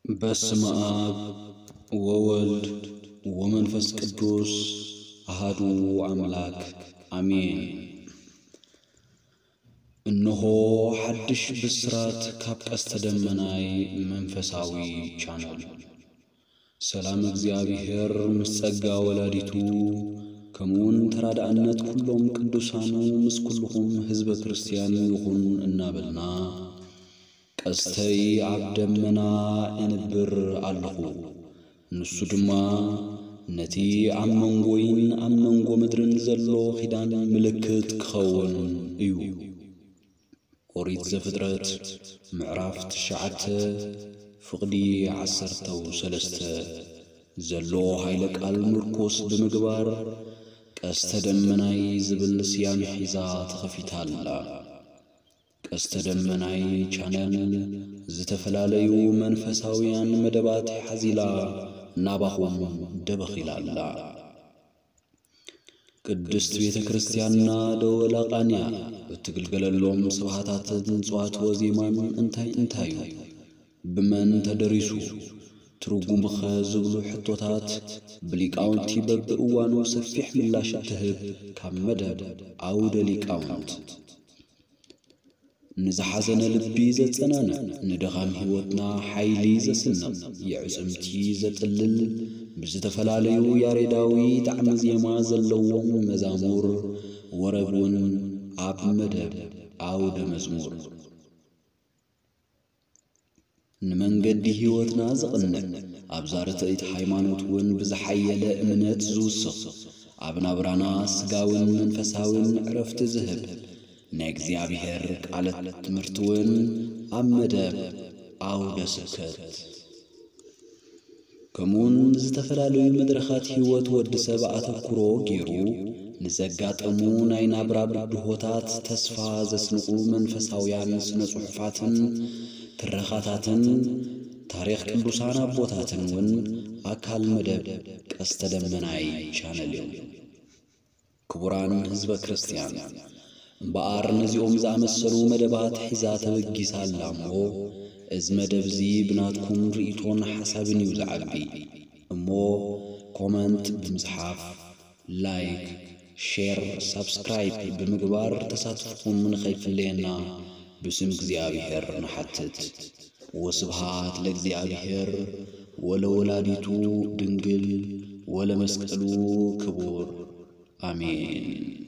በስመ አብ ወወልድ ወመንፈስ ቅዱስ አሃዱ አምላክ አሜን። እነሆ ሓድሽ ብስራት ካብ ቀስተ ደመናይ መንፈሳዊ ቻነል። ሰላም እግዚኣብሔር ምስ ጸጋ ወላዲቱ፣ ከምኡውን ተራዳእነት ኩሎም ቅዱሳኑ ምስ ኩልኹም ህዝበ ክርስቲያን ይኹን እናበልና፣ ቀስተይ ኣብ ደመና እንብር ኣለኹ። ንሱ ድማ ነቲ ኣብ መንጎይን ኣብ መንጎ ምድርን ዘሎ ኪዳን ምልክት ክኸውን እዩ። ኦሪት ዘፍጥረት ምዕራፍ ትሽዓተ ፍቕዲ ዓሰርተው ሰለስተ ዘሎ ኃይለ ቃል ምርኮስ ብምግባር ቀስተ ደመናይ ዝብል ስያሜ ሒዛ ተኸፊታ ኣላ። ቀስተ ደመናይ ቻነል ዝተፈላለዩ መንፈሳውያን መደባት ሓዚላ ናባኹም ደበኺላ ኣላ። ቅድስት ቤተ ክርስቲያንና ደወላ ቃንያ እትግልገለሎም ስብሃታትን ጽዋት ወዜማን እንታይ እንታዩ? ብመን ተደሪሱ? ትርጉምኸ ዝብሉ ሕቶታት ብሊቃውንቲ በብእዋኑ ሰፊሕ ምላሽ እትህብ ካብ መደብ ኣውደ ሊቃውንት። ንዝሓዘነ ልቢ ዘጸናንዕ፣ ንድኻም ሕይወትና ሓይሊ ዘስንቕ፣ የዕጽምቲ ዘጥልል፣ ብዝተፈላለዩ ያሬዳዊ ጣዕመ ዜማ ዘለዎም መዛሙር ወረብ እውን ኣብ መደብ ኣውደ መዝሙር። ንመንገዲ ሕይወትና ዘቕንዕ፣ ኣብዛ ርትዕቲ ሃይማኖት እውን ብዝሓየለ እምነት ዝውስኽ፣ ኣብ ናብራና ስጋውን መንፈሳውን ዕረፍቲ ዝህብ ናይ እግዚኣብሔር ቃል ትምህርቲ እውን ኣብ መደብ ኣውደ ስብከት። ከምኡውን ዝተፈላለዩ መድረኻት ሕይወት ወዲ ሰብ ኣተኩሮ ገይሩ ንዘጋጠሙ ናይ ናብራ ብድሆታት ተስፋ ዘስንቑ መንፈሳውያን ስነ ጽሑፋትን ትረኻታትን ታሪኽ ቅዱሳን ኣቦታትን እውን ኣካል መደብ ቀስተ ደመናይ ቻነል እዮም። ክቡራን ህዝበ ክርስቲያን፣ እምበኣር ነዚኦም ዝኣመሰሉ መደባት ሒዛ ተበጊሳ ኣላ እሞ፣ እዚ መደብ እዚ ብናትኩም ርእይቶን ሓሳብን እዩ ዝዓቢ። እሞ ኮመንት ብምጽሓፍ፣ ላይክ፣ ሼር፣ ሳብስክራይብ ብምግባር ተሳትፍኹም ንኸይፍለየና ብስም እግዚኣብሔር ንሓትት። ወስብሃት ለእግዚኣብሔር ወለወላዲቱ ድንግል ወለመስቀሉ ክቡር። አሜን።